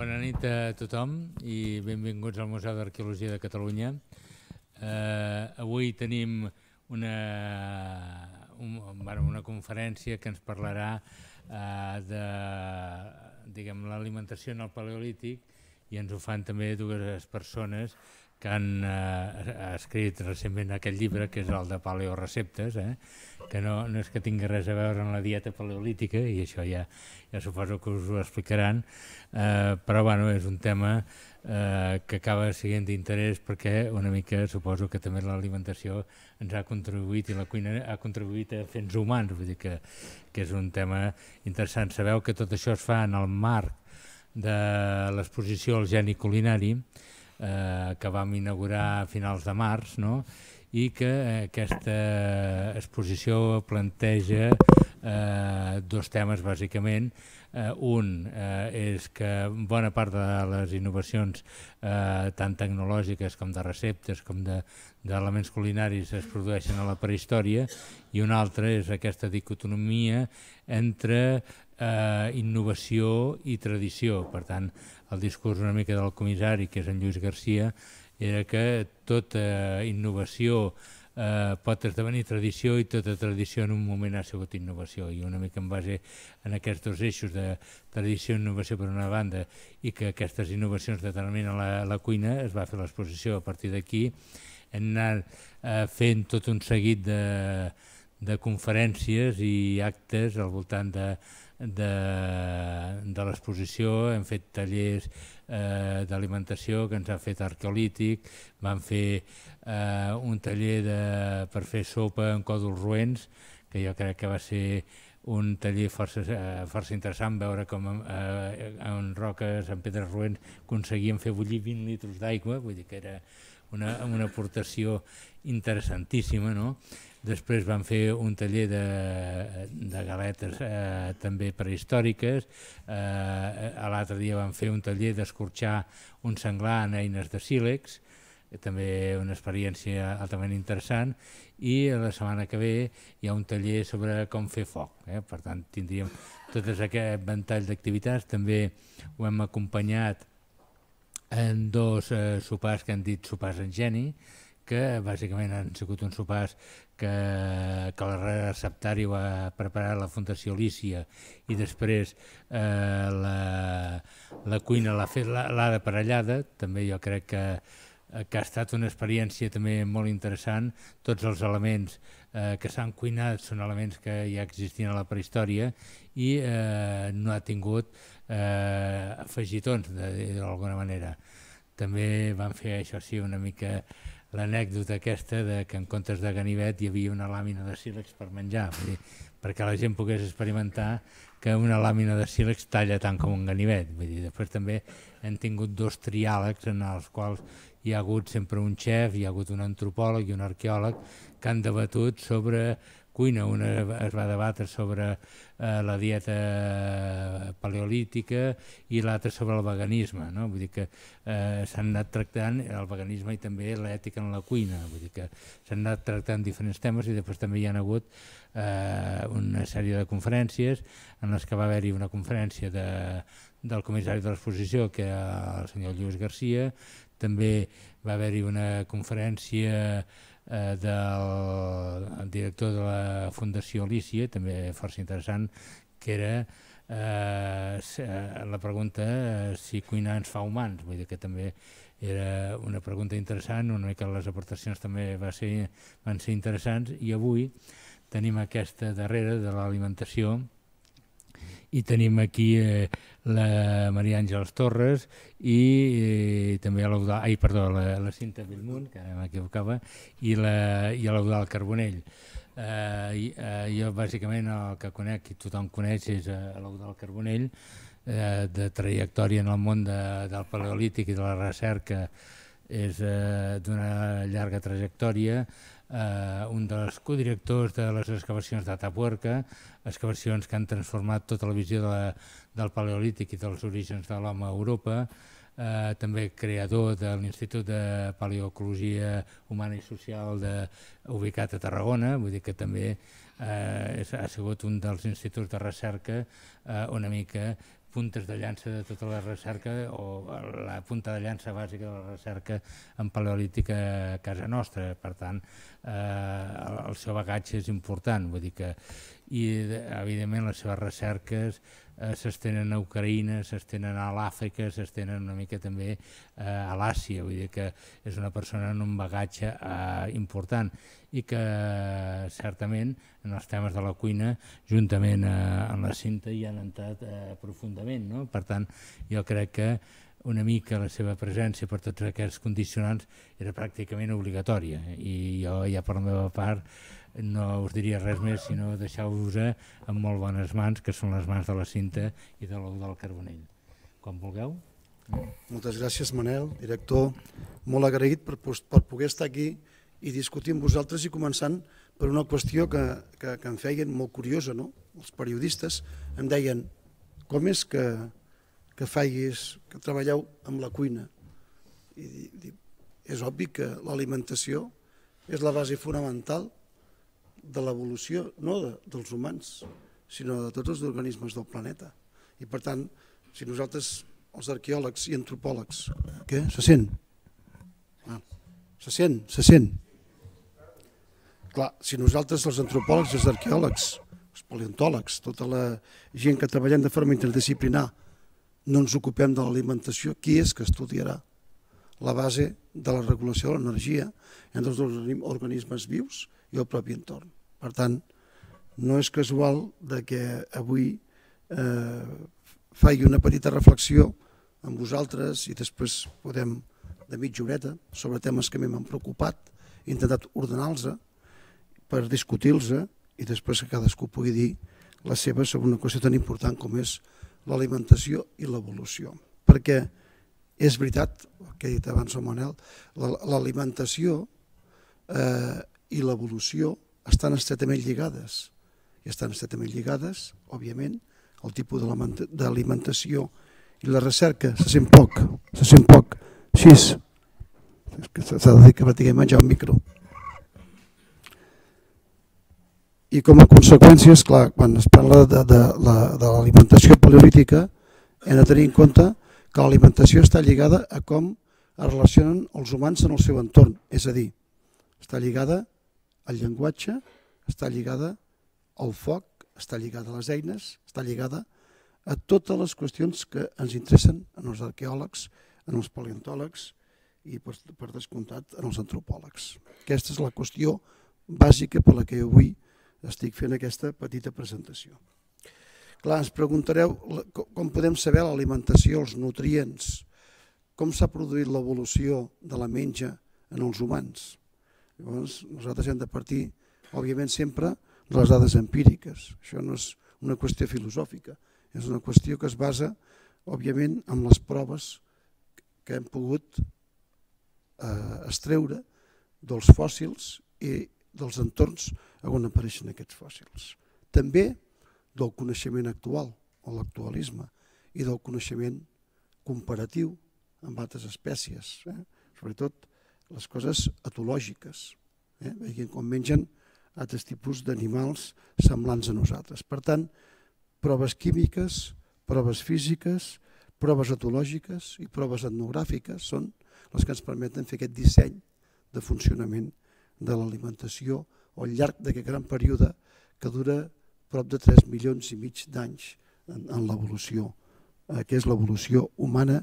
Bona nit a tothom i benvinguts al Museu d'Arqueologia de Catalunya. Avui tenim una conferència que ens parlarà de l'alimentació en el Paleolític, i ens ho fan també dues persones que han escrit recentment aquest llibre, que és el de Paleoreceptes, que no és que tingui res a veure amb la dieta paleolítica, i això ja suposo que us ho explicaran, però és un tema que acaba sent d'interès perquè una mica suposo que també l'alimentació ens ha contribuït i la cuina ha contribuït a fer-nos humans, vull dir que és un tema interessant. Sabeu que tot això es fa en el marc de l'exposició El Geni Culinari, que vam inaugurar a finals de març, i que aquesta exposició planteja dos temes bàsicament. Un és que bona part de les innovacions tant tecnològiques com de receptes com d'elements culinaris es produeixen a la prehistòria, i un altre és aquesta dicotomia entre innovació i tradició. Per tant, el discurs una mica del comissari, que és en Lluís Garcia, era que tota innovació pot esdevenir tradició i tota tradició en un moment ha sigut innovació, i una mica en base en aquests dos eixos de tradició i innovació per una banda, i que aquestes innovacions determinen la cuina, es va fer l'exposició. A partir d'aquí hem anat fent tot un seguit de conferències i actes al voltant de l'exposició. Hem fet tallers d'alimentació que ens ha fet Arqueolític, vam fer un taller per fer sopa en còdols roents, que jo crec que va ser un taller força interessant, veure com en roques, en pedres roents, aconseguíem fer bullir 20 litres d'aigua, vull dir que era una aportació interessantíssima, no? Després vam fer un taller de galetes també prehistòriques. L'altre dia vam fer un taller d'escorxar un senglar en eines de sílex, també una experiència altament interessant, i la setmana que ve hi ha un taller sobre com fer foc. Per tant, tindríem tot aquest ventall d'activitats. També ho hem acompanyat en dos sopars que han dit sopars en geni, que bàsicament han sigut uns sopars que el receptari va preparar la Fundació Lícia, i després la cuina l'ha fet l'Ada Parellada. També jo crec que ha estat una experiència també molt interessant. Tots els elements que s'han cuinat són elements que ja existien a la prehistòria i no ha tingut afegitons d'alguna manera. També van fer, això sí, una mica l'anècdota aquesta que en comptes de ganivet hi havia una làmina de sílex per menjar, perquè la gent pogués experimentar que una làmina de sílex talla tant com un ganivet. Després també hem tingut dos triàlegs en els quals hi ha hagut sempre un xef, hi ha hagut un antropòleg i un arqueòleg que han debatut sobre cuina. Una es va debatre sobre la dieta paleolítica i l'altra sobre el veganisme. Vull dir que s'han anat tractant el veganisme i també l'ètica en la cuina. Vull dir que s'han anat tractant diferents temes, i després també hi ha hagut una sèrie de conferències en les que va haver-hi una conferència del comissari de l'exposició, que era el senyor Lluís Garcia. També va haver-hi una conferència del director de la Fundació Lícia, també força interessant, que era la pregunta si cuinar ens fa humans. Vull dir que també era una pregunta interessant, una mica les aportacions també van ser interessants, i avui tenim aquesta darrera de l'alimentació, i tenim aquí la Maria Àngels Torres i també la Cinta Bellmunt, que ara m'equivocava, i l'Eudald Carbonell. Jo bàsicament el que conec, i tothom coneix, és l'Eudald Carbonell, de trajectòria en el món del paleolític i de la recerca. És d'una llarga trajectòria, un dels codirectors de les excavacions d'Atapuerca, excavacions que han transformat tota la visió del paleolític i dels orígens de l'home a Europa. També creador de l'Institut de Paleoecologia Humana i Social ubicat a Tarragona. Vull dir que també ha sigut un dels instituts de recerca una mica puntes de llança de tota la recerca, o la punta de llança bàsica de la recerca en paleolítica a casa nostra. Per tant, el seu bagatge és important, vull dir que, i evidentment les seves recerques s'estenen a Ucraïna, s'estenen a l'Àfrica, s'estenen una mica també a l'Àsia, vull dir que és una persona amb un bagatge important i que certament en els temes de la cuina, juntament amb la Cinta, hi han entrat profundament, no? Per tant, jo crec que una mica la seva presència per tots aquests condicionants era pràcticament obligatòria, i jo ja per la meva part no us diria res més, sinó deixar-vos en molt bones mans, que són les mans de la Cinta i de l'Eudald Carbonell. Quan vulgueu. Moltes gràcies, Manel, director. Molt agraït per poder estar aquí i discutir amb vosaltres, i començant per una qüestió que em feien molt curiosa, no? Els periodistes em deien: com és que treballeu amb la cuina? I dic, és obvi que l'alimentació és la base fonamental de l'evolució, no dels humans, sinó de tots els organismes del planeta. I per tant, si nosaltres, els arqueòlegs i antropòlegs, què? Se sent? Se sent? Clar, si nosaltres, els antropòlegs i els arqueòlegs, els paleontòlegs, tota la gent que treballem de forma interdisciplinar, no ens ocupem de l'alimentació, qui és que estudiarà la base de la regulació de l'energia entre els organismes vius i el propi entorn? Per tant, no és casual que avui faci una petita reflexió amb vosaltres i després podem, de mitja horeta, sobre temes que a mi m'han preocupat, he intentat ordenar-los per discutir-los i després que cadascú pugui dir la seva sobre una qüestió tan important com és l'alimentació i l'evolució. Perquè és veritat, el que he dit abans el Manel, l'alimentació i l'evolució estan estretament lligades. I estan estretament lligades, òbviament, el tipus d'alimentació i la recerca se sent poc. Així. S'ha de dir que practiquem menjar un micro. I com a conseqüència, esclar, quan es parla de l'alimentació paleolítica, hem de tenir en compte que l'alimentació està lligada a com es relacionen els humans en el seu entorn. És a dir, està lligada al llenguatge, està lligada al foc, està lligada a les eines, està lligada a totes les qüestions que ens interessen en els arqueòlegs, en els paleontòlegs i, per descomptat, en els antropòlegs. Aquesta és la qüestió bàsica per la que avui estic fent aquesta petita presentació. Clar, ens preguntareu com podem saber l'alimentació, els nutrients, com s'ha produït l'evolució de la menja en els humans. Llavors, nosaltres hem de partir, òbviament, sempre de les dades empíriques. Això no és una qüestió filosòfica, és una qüestió que es basa, òbviament, en les proves que hem pogut extreure dels fòssils i dels entorns on apareixen aquests fòssils. També del coneixement actual, o l'actualisme, i del coneixement comparatiu amb altres espècies, sobretot les coses etològiques, veient com mengen altres tipus d'animals semblants a nosaltres. Per tant, proves químiques, proves físiques, proves etològiques i proves etnogràfiques són les que ens permeten fer aquest disseny de funcionament de l'alimentació al llarg d'aquest gran període que dura prop de 3 milions i mig d'anys en l'evolució, que és l'evolució humana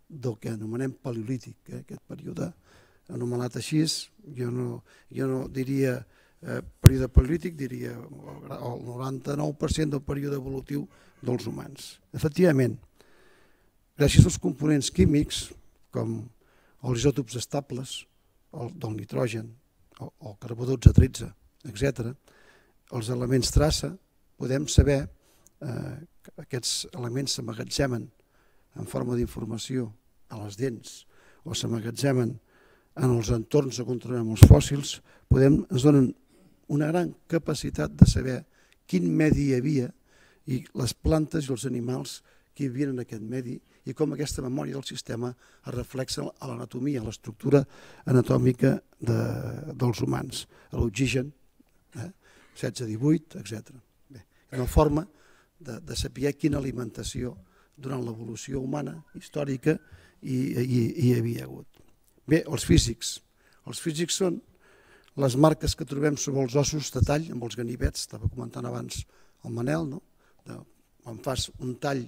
del que anomenem paleolític, aquest període anomenat així. Jo no diria període paleolític, diria el 99% del període evolutiu dels humans. Efectivament, gràcies als components químics, com els isòtops estables, del nitrogen, el carbó 12-13, etc., els elements traça, podem saber que aquests elements s'emmagatzemen en forma d'informació a les dents o s'emmagatzemen en els entorns on trobem els fòssils, ens donen una gran capacitat de saber quin medi hi havia i les plantes i els animals que hi vivien en aquest medi i com aquesta memòria del sistema es reflexa a l'anatomia, a l'estructura anatòmica dels humans, a l'oxigen, 16-18, etc. Una forma de saber quina alimentació durant l'evolució humana històrica hi havia hagut. Bé, els físics. Els físics són les marques que trobem sobre els ossos de tall, amb els ganivets, estava comentant abans el Manel, no? Quan fas un tall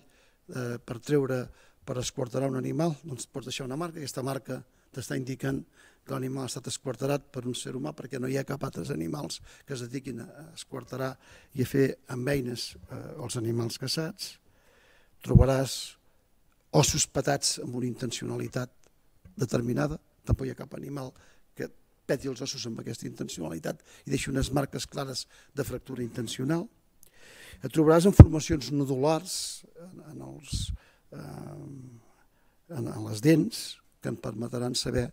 per esquarterar un animal, doncs pots deixar una marca, aquesta marca t'està indicant que l'animal ha estat esquarterat per un ser humà, perquè no hi ha cap altres animals que es dediquin a esquarterar i a fer amb eines els animals caçats. Trobaràs ossos petats amb una intencionalitat determinada, tampoc hi ha cap animal que peti els ossos amb aquesta intencionalitat i deixi unes marques clares de fractura intencional. Et trobaràs en formacions nodulars en les dents que ens permetran saber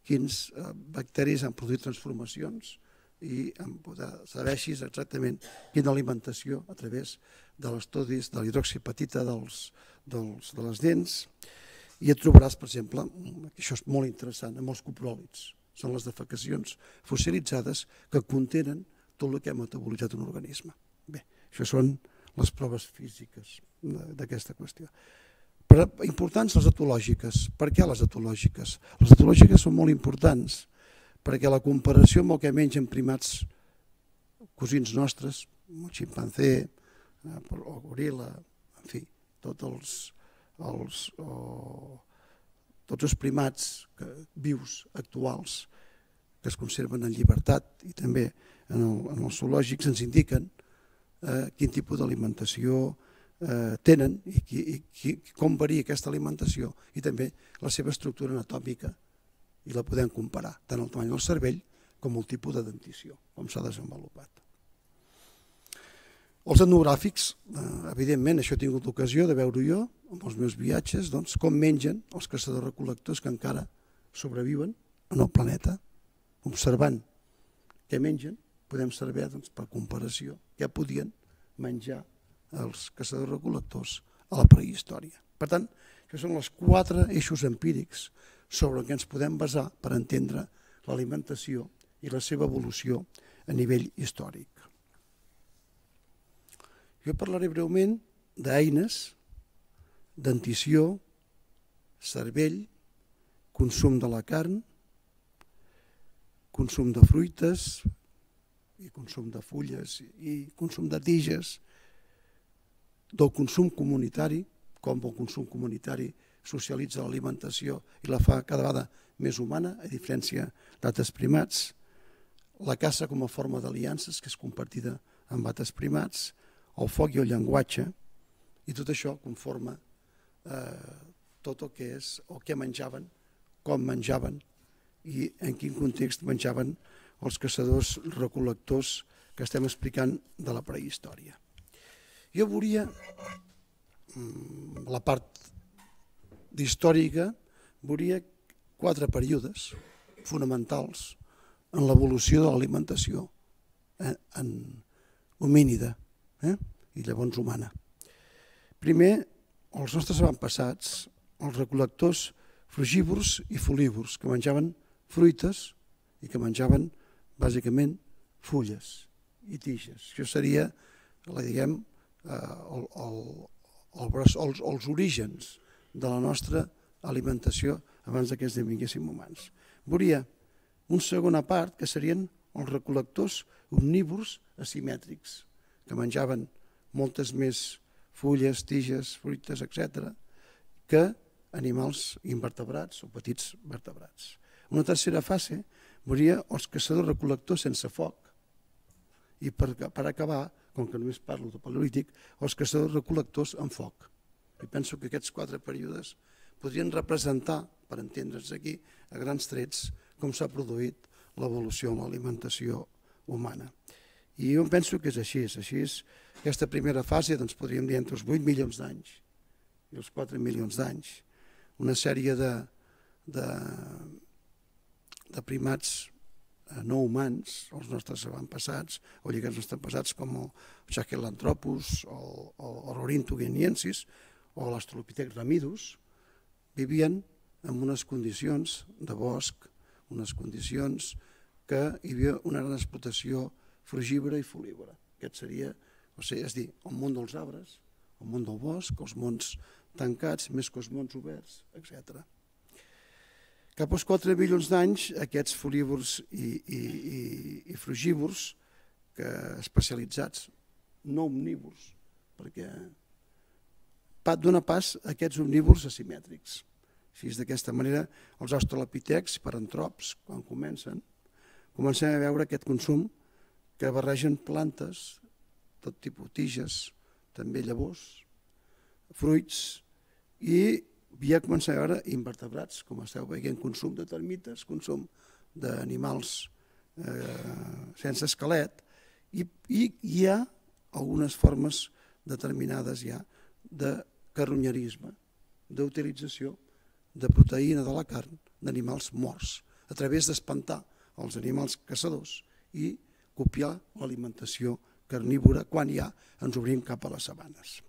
quins bacteris han produït transformacions i en poder saber així exactament quina alimentació a través de l'estudis de l'hidroxipatita de les dents. I et trobaràs, per exemple, això és molt interessant, amb els copròlits. Són les defecacions fossilitzades que contenen tot el que ha metabolitzat un organisme. Bé, això són les proves físiques d'aquesta qüestió. Però importants les etològiques. Per què les etològiques? Les etològiques són molt importants perquè la comparació amb el que mengen primats cosins nostres, el ximpanzé, el goril·la, en fi, tots els primats vius actuals que es conserven en llibertat i també en els zoològics ens indiquen quin tipus d'alimentació tenen i com varia aquesta alimentació i també la seva estructura anatòmica i la podem comparar tant el tamany del cervell com el tipus de dentició, com s'ha desenvolupat. Els etnogràfics, evidentment, això he tingut l'ocasió de veure jo amb els meus viatges, doncs, com mengen els caçadors-recol·lectors que encara sobreviuen en el planeta. Observant què mengen, podem saber per comparació què podien menjar els caçadors-recol·lectors a la prehistòria. Per tant, això són els 4 eixos empírics sobre què ens podem basar per entendre l'alimentació i la seva evolució a nivell històric. Jo parlaré breument d'eines, dentició, cervell, consum de la carn, consum de fruites i consum de fulles i consum de tiges, del consum comunitari, com el consum comunitari socialitza l'alimentació i la fa cada vegada més humana, a diferència d'altres primats, la caça com a forma d'aliances, que és compartida amb altres primats, el foc i el llenguatge, i tot això conforma tot el que és el que menjaven, com menjaven i en quin context menjaven els caçadors-recol·lectors que estem explicant de la prehistòria. Jo veuria la part d'històrica, veuria 4 períodes fonamentals en l'evolució de l'alimentació homínida i llavors humana. Primer, els nostres avantpassats, els recol·lectors frugívors i folívors, que menjaven fruites i que menjaven bàsicament fulles i tiges. Això seria, diguem, els orígens de la nostra alimentació abans que esdevinguéssim humans. Veuria una segona part que serien els recol·lectors omnívors asimètrics, que menjaven moltes més fulles, tiges, fruites, etc., que animals invertebrats o petits vertebrats. Una tercera fase veuria els caçadors-recol·lectors sense foc i per acabar, com que només parlo de paleolític, els caçadors-recol·lectors amb foc. I penso que aquests 4 períodes podrien representar, per entendre'ns aquí, a grans trets, com s'ha produït l'evolució en l'alimentació humana. I jo penso que és així. Aquesta primera fase, doncs podríem dir entre els 8 milions d'anys i els 4 milions d'anys, una sèrie de primats no humans, els nostres avantpassats, o lligats als nostres avantpassats com el Sahelanthropus, o l'Ornithogueniensis, o l'Australopithecus ramidus, vivien en unes condicions de bosc, unes condicions que hi havia una gran explotació frugívora i folívora. Aquest seria, és dir, el món dels arbres, el món del bosc, els mons tancats, més que els mons oberts, etc. Cap als 4 milions d'anys, aquests folívors i frugívors especialitzats, no omnívors, perquè dona pas a aquests omnívors asimètrics. Així, d'aquesta manera, els australopitecs, parantrops, quan comencem a veure aquest consum que barregen plantes, tot tipus tiges, també llavors, fruits, i ja comencem a veure invertebrats, com esteu veient, consum de termites, consum d'animals sense esquelet, i hi ha algunes formes determinades ja de carronyerisme, d'utilització de proteïna de la carn d'animals morts, a través d'espantar els animals caçadors i copiar l'alimentació carnívora quan ja ens obrim cap a les sabanes.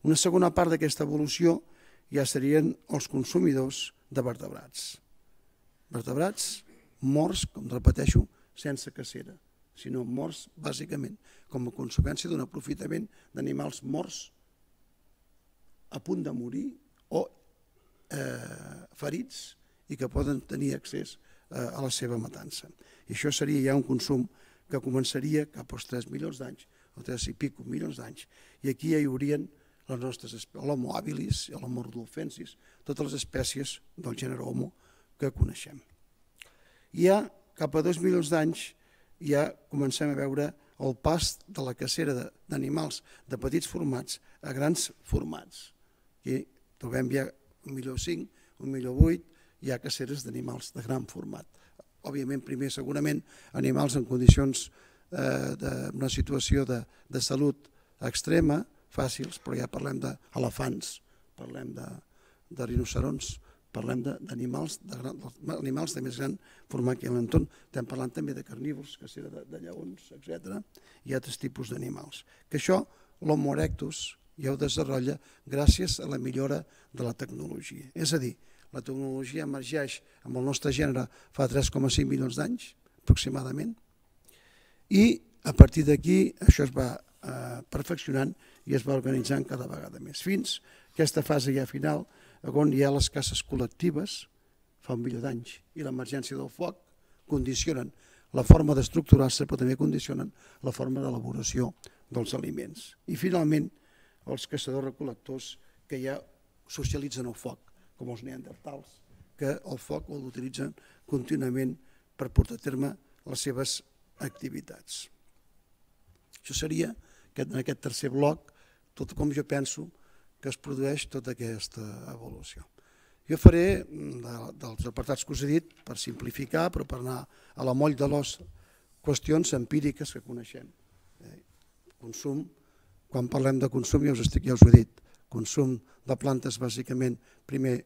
Una segona part d'aquesta evolució ja serien els consumidors de vertebrats. Vertebrats morts, com repeteixo, sense cacera, sinó morts bàsicament com a conseqüència d'un aprofitament d'animals morts a punt de morir o ferits i que poden tenir accés a la seva matança. I això seria ja un consum que començaria cap als 3 milions d'anys, o 3 i pico milions d'anys, i aquí ja hi haurien les nostres espècies, l'Homo habilis, l'Homo rudolfensis, totes les espècies del gènere Homo que coneixem. I ja cap a 2 milions d'anys ja comencem a veure el pas de la cacera d'animals de petits formats a grans formats. Aquí trobem ja 1,5 milió, 1,8 milió, hi ha caceres d'animals de gran format. Òbviament, primer, segurament, animals en condicions d'una situació de salut extrema, fàcils, però ja parlem d'elefants, parlem de rinocerons, parlem d'animals de més gran format que hi ha a l'entorn. Estem parlant també de carnívors, cacera de lleons, etc. Hi ha altres tipus d'animals. Que això, l'Homo erectus, ja ho desenvolupa gràcies a la millora de la tecnologia. És a dir, la tecnologia emergeix amb el nostre gènere fa 3,5 milions d'anys, aproximadament, i a partir d'aquí això es va perfeccionant i es va organitzant cada vegada més. Fins a aquesta fase ja final, on hi ha les caces col·lectives, fa 1 milió d'anys, i l'emergència del foc condicionen la forma d'estructurar-se, però també condicionen la forma d'elaboració dels aliments. I finalment, els caçadors-recol·lectors que ja socialitzen el foc, com els neandertals, que el foc l'utilitzen contínuament per portar a terme les seves activitats. Això seria, en aquest tercer bloc, tot com jo penso que es produeix tota aquesta evolució. Jo faré dels apartats que us he dit per simplificar, però per anar a la moll de l'os, qüestions empíriques que coneixem. Consum, quan parlem de consum ja us ho he dit, consum de plantes bàsicament primer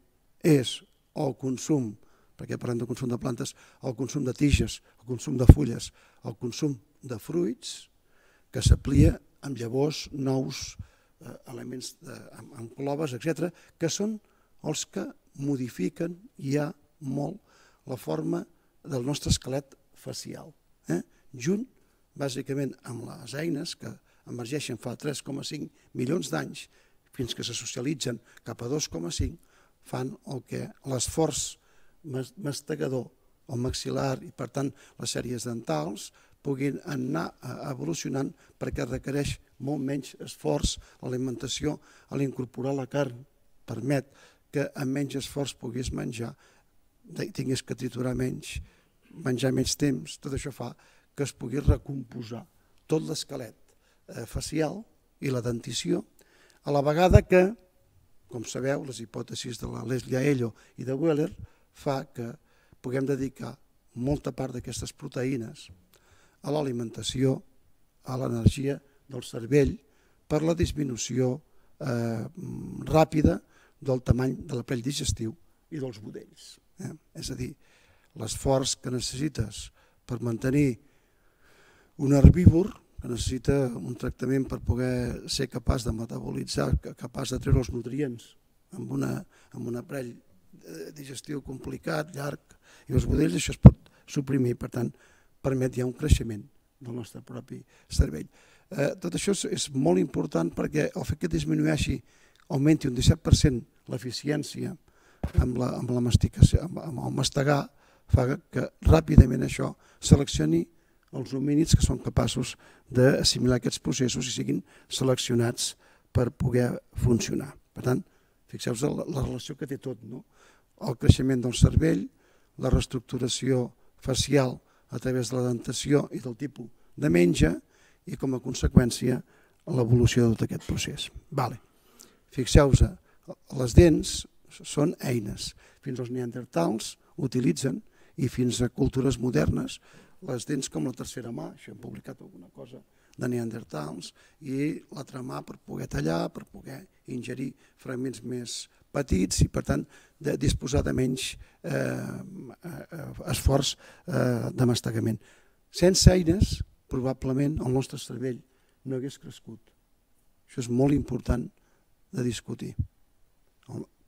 és el consum, perquè parlem de consum de plantes, el consum de tiges, el consum de fulles, el consum de fruits que s'amplia amb llavors, nous, elements amb cloves, etc., que són els que modifiquen ja molt la forma del nostre esquelet facial. Junt, bàsicament, amb les eines que emergeixen fa 3,5 milions d'anys, fins que se socialitzen cap a 2,5, fan el que l'esforç mastegador, el maxil·lar i, per tant, les sèries dentals, puguin anar evolucionant perquè requereix molt menys esforç l'alimentació a l'incorporar la carn. Permet que amb menys esforç puguis menjar, tinguis que triturar menys, menjar menys temps. Tot això fa que es pugui recomposar tot l'esquelet facial i la dentició, a la vegada que, com sabeu, les hipòtesis de la Leslie Aello i de Weller fa que puguem dedicar molta part d'aquestes proteïnes a l'alimentació, a l'energia del cervell per la disminució ràpida del tamany de l'aparell digestiu i dels budells. És a dir, l'esforç que necessites per mantenir un herbívor, que necessita un tractament per poder ser capaç de metabolitzar, capaç de treure els nutrients amb un aparell digestiu complicat, llarg, i els budells això es pot suprimir, per tant, permet ja un creixement del nostre propi cervell. Tot això és molt important perquè el fet que disminueixi augmenti un 17% l'eficiència amb la masticació, amb el mastegar, fa que ràpidament això seleccioni els homínids que són capaços d'assimilar aquests processos i siguin seleccionats per poder funcionar. Per tant, fixeu-vos la relació que té tot, no? El creixement del cervell, la reestructuració facial a través de la dentació i del tipus de menja i com a conseqüència l'evolució de tot aquest procés. Fixeu-vos, les dents són eines. Fins als neandertals utilitzen i fins a cultures modernes les dents com la tercera mà, això hem publicat alguna cosa de neandertals, i l'altra mà per poder tallar, per poder ingerir fragments més petits i per tant disposar de menys esforç de mastegament. Sense eines, probablement el nostre cervell no hagués crescut. Això és molt important de discutir.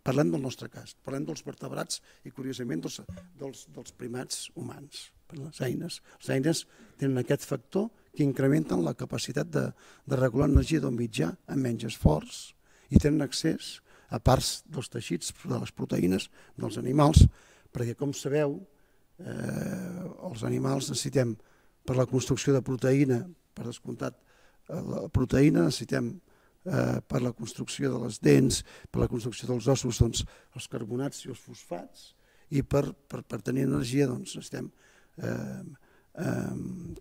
Parlem del nostre cas, parlem dels vertebrats i curiosament dels primats humans. Les eines tenen aquest factor que incrementen la capacitat de regular l'energia d'un mitjà amb menys esforç i tenen accés a parts dels teixits, de les proteïnes dels animals, perquè com sabeu, els animals necessitem per la construcció de proteïna, per descomptat, la proteïna necessitem per la construcció de les dents, per la construcció dels ossos, els carbonats i els fosfats, i per tenir energia necessitem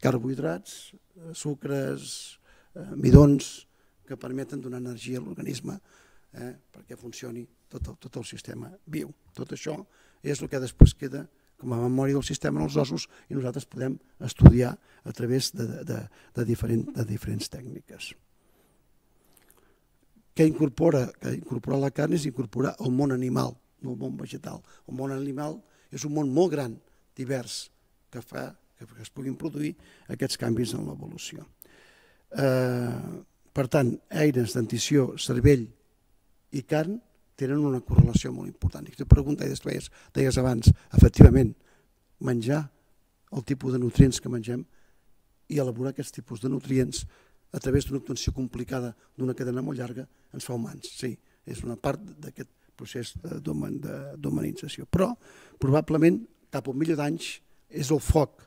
carbohidrats, sucres, midons, que permeten donar energia a l'organisme perquè funcioni tot el sistema viu. Tot això és el que després queda com a memòria del sistema en els ossos i nosaltres podem estudiar a través de diferents tècniques. Què incorpora la carn és incorporar el món animal, no el món vegetal. El món animal és un món molt gran, divers, que fa que es puguin produir aquests canvis en l'evolució. Per tant, eines, dentició, cervell i carn tenen una correlació molt important. I tu preguntes, deies abans, efectivament, menjar el tipus de nutrients que mengem i elaborar aquests tipus de nutrients a través d'una obtenció complicada d'una cadena molt llarga ens fa humans. Sí, és una part d'aquest procés d'humanització. Però, probablement, cap a 1 milió d'anys és el foc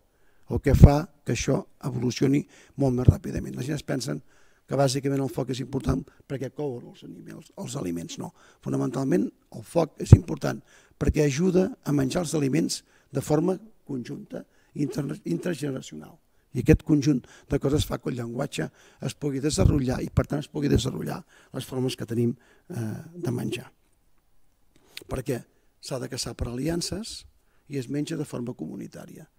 el que fa que això evolucioni molt més ràpidament. La gent es pensen que bàsicament el foc és important perquè couen els aliments. No, fonamentalment el foc és important perquè ajuda a menjar els aliments de forma conjunta, intergeneracional. I aquest conjunt de coses fa que el llenguatge es pugui desenvolupar i per tant es pugui desenvolupar les formes que tenim de menjar. Perquè s'ha de caçar per aliances i es menja de forma comunitària.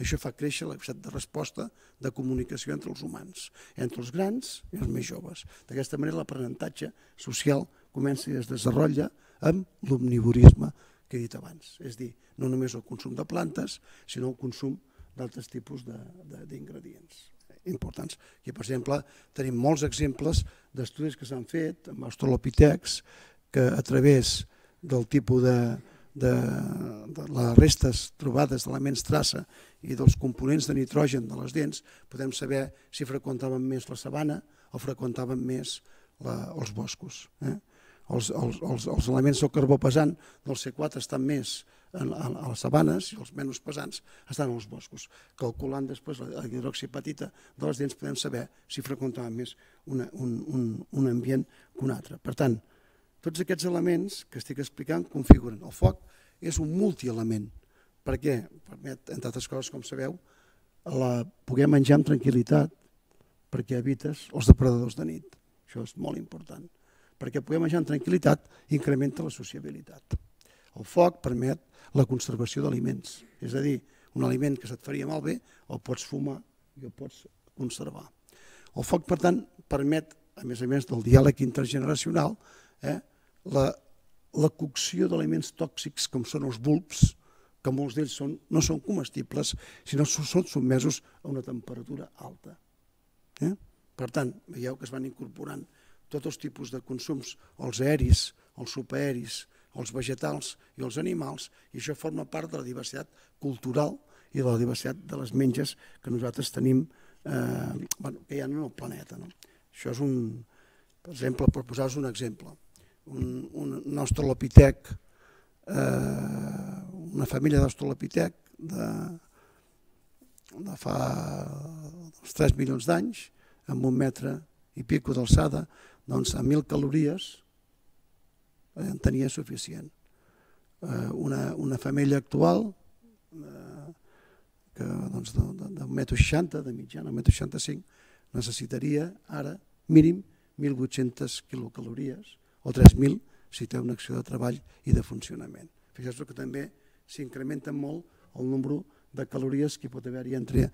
Això fa créixer la capacitat de resposta de comunicació entre els humans, entre els grans i els més joves. D'aquesta manera l'aprenentatge social comença i es desenvolupa amb l'omnivorisme que he dit abans. És a dir, no només el consum de plantes, sinó el consum d'altres tipus d'ingredients importants. Aquí, per exemple, tenim molts exemples d'estudis que s'han fet amb australopitecs que a través del tipus de les restes trobades d'elements traça i dels components de nitrogen de les dents podem saber si freqüentaven més la sabana o freqüentaven més els boscos. Els elements del carbó pesant del C4 estan més a les sabanes i els menys pesants estan als boscos. Calculant després la hidroxipatita de les dents podem saber si freqüentaven més un ambient que un altre. Per tant, tots aquests elements que estic explicant configuren. El foc és un multielement perquè permet, entre altres coses, com sabeu, poder menjar amb tranquil·litat perquè evites els depredadors de nit. Això és molt important. Perquè poder menjar amb tranquil·litat incrementa la sociabilitat. El foc permet la conservació d'aliments. És a dir, un aliment que se't faria malbé el pots fumar i el pots conservar. El foc, per tant, permet, a més del diàleg intergeneracional, la cocció d'aliments tòxics com són els bulbs, que molts d'ells no són comestibles, sinó són sotmesos a una temperatura alta. Per tant, veieu que es van incorporant tots els tipus de consums, els aeris, els subaeris, els vegetals i els animals, i això forma part de la diversitat cultural i de la diversitat de les menges que nosaltres tenim, que hi ha en el planeta. Això és per exemple, per posar-vos un exemple, un australopitec, una família d'australopitec de fa uns 3 milions d'anys, amb 1 metre i pico d'alçada, doncs a 1.000 calories en tenia suficient. Una família actual que d'un 1,60 m, de mitjana, 1,65 m, necessitaria ara mínim 1.800 quilocalories o 3.000 si té una acció de treball i de funcionament. Fixeu-vos que també s'incrementa molt el nombre de calories que pot haver-hi entre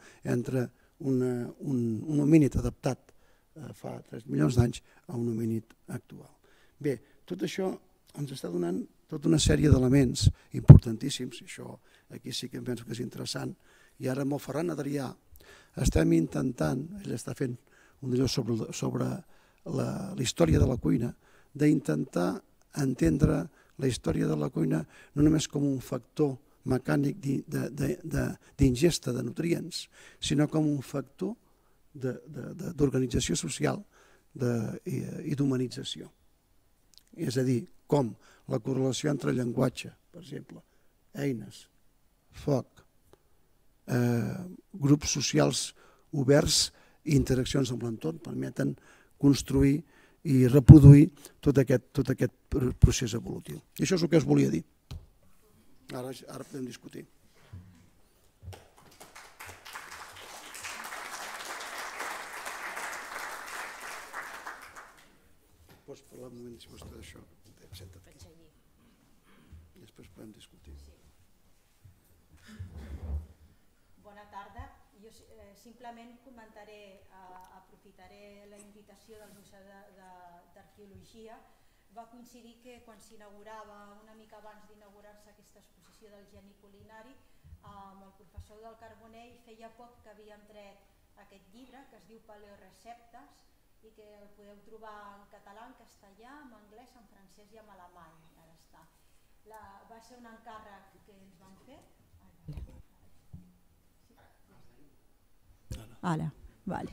un homínid adaptat fa 3 milions d'anys a un homínid actual. Bé, tot això ens està donant tota una sèrie d'elements importantíssims, i això aquí sí que penso que és interessant, i ara amb el Ferran Adrià estem intentant, ell està fent un allò sobre la història de la cuina, d'intentar entendre la història de la cuina no només com un factor mecànic d'ingesta de nutrients, sinó com un factor d'organització social i d'humanització. És a dir, com la correlació entre llenguatge, per exemple, eines, foc, grups socials oberts i interaccions amb l'entorn permeten construir i reproduir tot aquest procés evolutiu. I això és el que us volia dir. Ara podem discutir. Pots parlar un moment, si vols, d'això. Senta't aquí. I després podem discutir. Bona tarda. Jo simplement aprofitaré la invitació del Museu d'Arqueologia. Va coincidir que quan s'inaugurava, una mica abans d'inaugurar-se aquesta exposició del geni culinari, amb el professor del Carbonell feia poc que havíem tret aquest llibre que es diu Paleoreceptes i que el podeu trobar en català, en castellà, en anglès, en francès i en alemany. Ara està. Va ser un encàrrec que ens van fer. Ara, vale.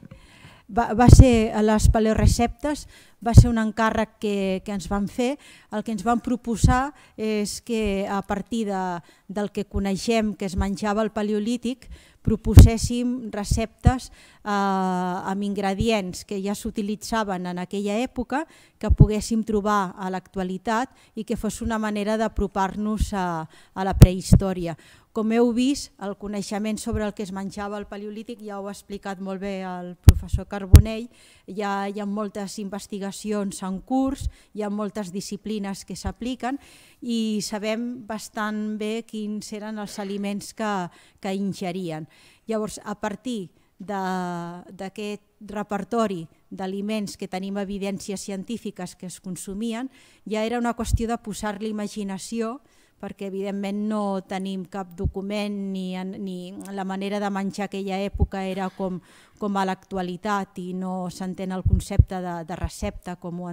Va ser a les Paleoreceptes, va ser un encàrrec que ens van fer. El que ens van proposar és que a partir del que coneixem que es menjava al Paleolític proposéssim receptes amb ingredients que ja s'utilitzaven en aquella època, que poguéssim trobar a l'actualitat i que fos una manera d'apropar-nos a la prehistòria. Com heu vist, el coneixement sobre el que es menjava al Paleolític ja ho ha explicat molt bé el professor Carbonell. Hi ha moltes investigacions en curs, hi ha moltes disciplines que s'apliquen i sabem bastant bé quins eren els aliments que ingerien. Llavors, a partir d'aquest repertori d'aliments que tenim evidències científiques que es consumien, ja era una qüestió de posar-li imaginació, perquè evidentment no tenim cap document ni la manera de menjar aquella època era com a l'actualitat i no s'entén el concepte de recepta com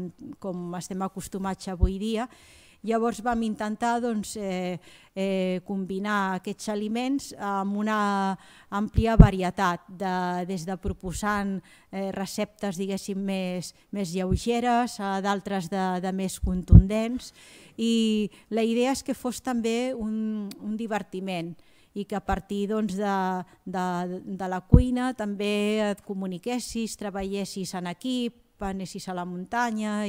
estem acostumats avui dia. Llavors vam intentar combinar aquests aliments amb una àmplia varietat, des de proposant receptes diguéssim més lleugeres a d'altres de més contundents, i la idea és que fos també un divertiment i que a partir de la cuina també et comuniquessis, treballessis en equip, anessis a la muntanya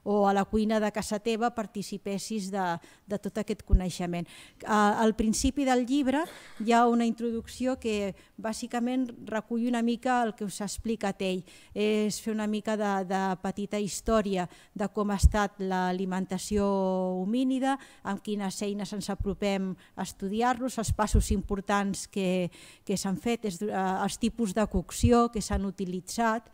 o a la cuina de casa teva participessis de tot aquest coneixement. Al principi del llibre hi ha una introducció que bàsicament recull una mica el que us ha explicat ell. És fer una mica de petita història de com ha estat l'alimentació homínida, amb quines eines ens apropem a estudiar-los, els passos importants que s'han fet, els tipus de cocció que s'han utilitzat,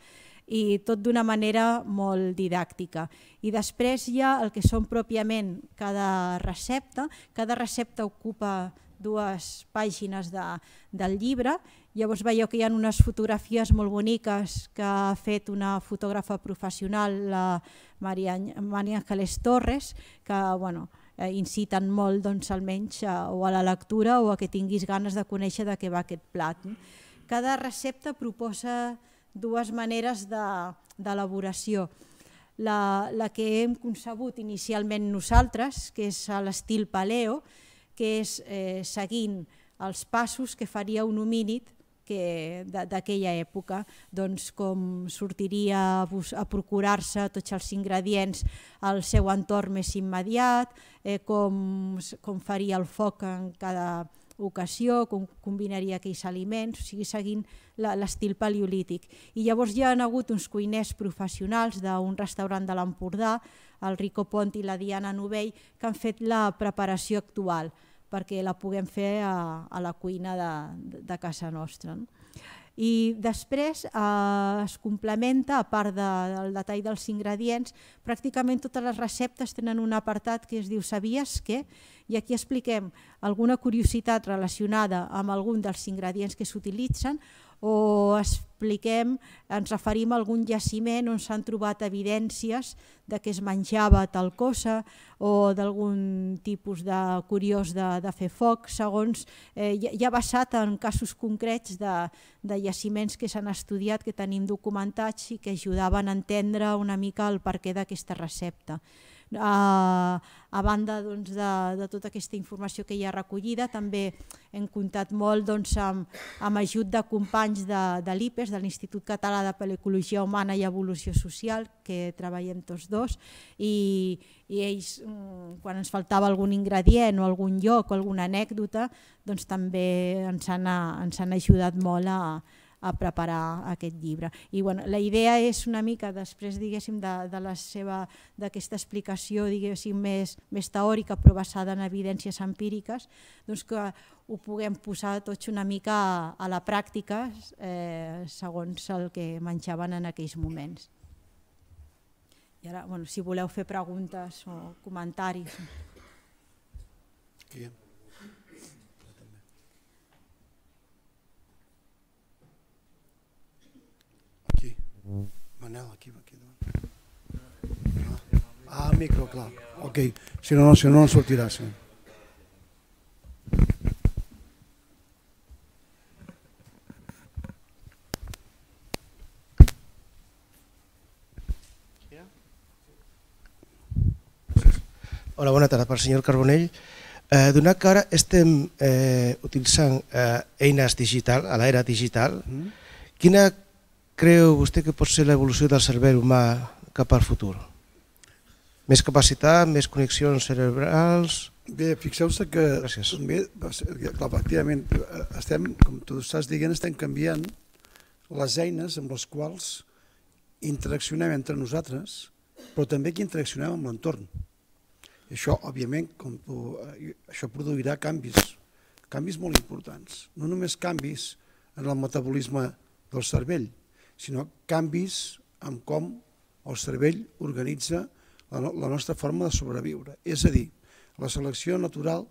i tot d'una manera molt didàctica. I després hi ha el que són pròpiament cada recepta. Cada recepta ocupa 2 pàgines del llibre. Llavors veieu que hi ha unes fotografies molt boniques que ha fet una fotògrafa professional, la Maria Ángeles Torres, que inciten molt almenys o a la lectura o a que tinguis ganes de conèixer de què va aquest plat. Cada recepta proposa 2 maneres d'elaboració. la que hem concebut inicialment nosaltres, que és a l'estil paleo, que és seguint els passos que faria un homínid d'aquella època, doncs com sortiria a procurar-se tots els ingredients al seu entorn més immediat, com faria el foc en cada ocasió, com combinaria aquells aliments, o sigui, seguint l'estil paleolític. I llavors hi ha hagut uns cuiners professionals d'un restaurant de l'Empordà, el Rico Pont i la Diana Novell, que han fet la preparació actual perquè la puguem fer a la cuina de casa nostra. I després es complementa, a part del detall dels ingredients, pràcticament totes les receptes tenen un apartat que es diu "Sabies què?" i aquí expliquem alguna curiositat relacionada amb algun dels ingredients que s'utilitzen o ens referim a algun jaciment on s'han trobat evidències de que es menjava tal cosa o d'algun tipus curiós de fer foc, segons ja basat en casos concrets de jaciments que s'han estudiat, que tenim documentats i que ajudaven a entendre una mica el perquè d'aquesta recepta. A banda de tota aquesta informació que hi ha recollida, també hem comptat molt amb ajut de companys de l'IPES, de l'Institut Català de Paleocologia Humana i Evolució Social, que treballem tots dos, i ells, quan ens faltava algun ingredient o algun lloc o alguna anècdota, doncs també ens han ajudat molt a preparar aquest llibre. I la idea és una mica, després d'aquesta explicació més teòrica però basada en evidències empíriques, que ho puguem posar tots una mica a la pràctica segons el que menjaven en aquells moments. I ara, si voleu fer preguntes o comentaris. Manel, aquí davant. El micro, clar. Ok, si no en sortirà. Hola, bona tarda. Per senyor Carbonell, donat que ara estem utilitzant eines digitals, a l'era digital, quina creu vostè que pot ser l'evolució del cervell humà cap al futur? Més capacitat, més connexions cerebrals? Bé, fixeu-se que efectivament, com tu estàs dient, estem canviant les eines amb les quals interaccionem entre nosaltres, però també que interaccionem amb l'entorn. Això, òbviament, això produirà canvis molt importants. No només canvis en el metabolisme del cervell, sinó canvis en com el cervell organitza la nostra forma de sobreviure. És a dir, la selecció natural